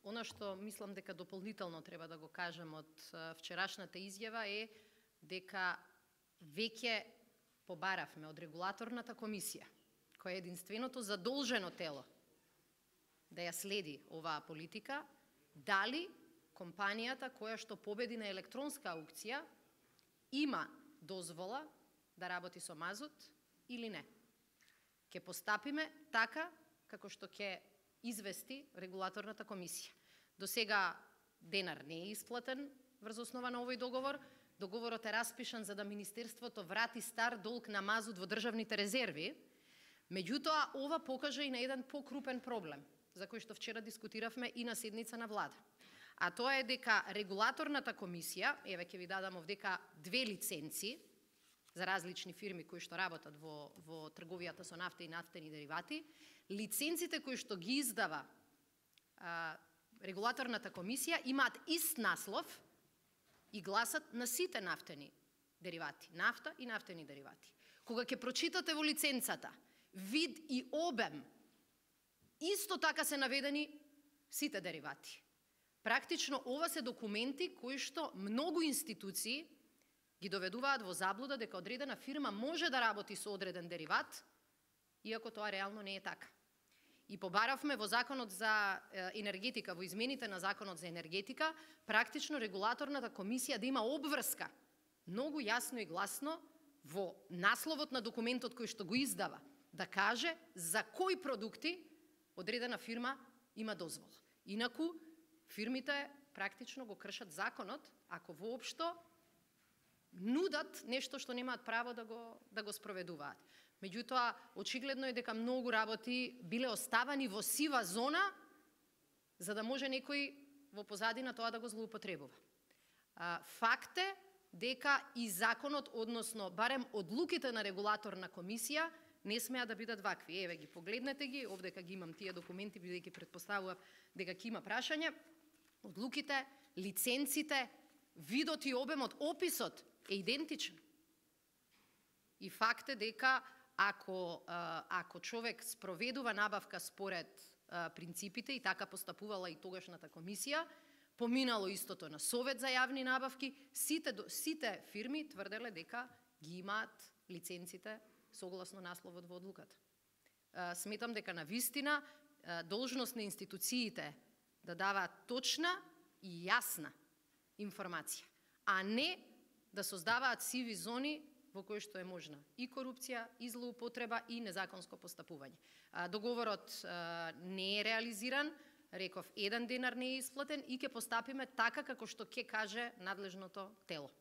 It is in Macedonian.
Она што мислам дека дополнително треба да го кажем од вчерашната изјава е дека веќе побаравме од регулаторната комисија, која е единственото задолжено тело да ја следи оваа политика, дали компанијата која што победи на електронска аукција има дозвола да работи со мазут или не. Ќе постапиме така како што ќе извести регулаторната комисија. До сега денар не е исплатен врз основа на овој договор. Договорот е распишан за да Министерството врати стар долг на мазут во државните резерви. Меѓутоа, ова покажа и на еден покрупен проблем, за кој што вчера дискутиравме и на седница на влада. А тоа е дека регулаторната комисија, еве ќе ви дадам овдека 2 лиценци за различни фирми кои што работат во трговијата со нафта и нафтени деривати, лиценците кои што ги издава регулаторната комисија имаат ист наслов и гласат на сите нафтени деривати, нафта и нафтени деривати. Кога ќе прочитате во лиценцата вид и обем, исто така се наведени сите деривати. Практично ова се документи кои што многу институции ги доведуваат во заблуда дека одредена фирма може да работи со одреден дериват, иако тоа реално не е така. И побаравме во Законот за енергетика, во измените на Законот за енергетика, практично регулаторната комисија да има обврска, многу јасно и гласно, во насловот на документот кој што го издава, да каже за кои продукти одредена фирма има дозвола. Инаку, фирмите практично го кршат законот, ако воопшто нудат нешто што немаат право да го спроведуваат. Меѓутоа, очигледно е дека многу работи биле оставани во сива зона, за да може некој во позадина тоа да го злоупотребува. Факт е дека и законот, односно барем одлуките на регулаторна комисија, не смеа да бидат вакви. Еве ги, погледнете ги, овдека ги имам тие документи, бидејќи претпоставував дека ќе има прашања. Одлуките, лиценците, видот и обемот, описот е идентичен. И факт е дека ако човек спроведува набавка според принципите и така постапувала и тогашната комисија, поминало истото на Совет за јавни набавки, сите фирми тврделе дека ги имаат лиценците согласно насловот во одлуката. Сметам дека навистина должност на институциите да даваат точна и јасна информација, а не да создаваат сиви зони во кои што е можна и корупција, и злоупотреба, и незаконско постапување. Договорот не е реализиран, реков, еден денар не е исплатен и ќе постапиме така како што ќе каже надлежното тело.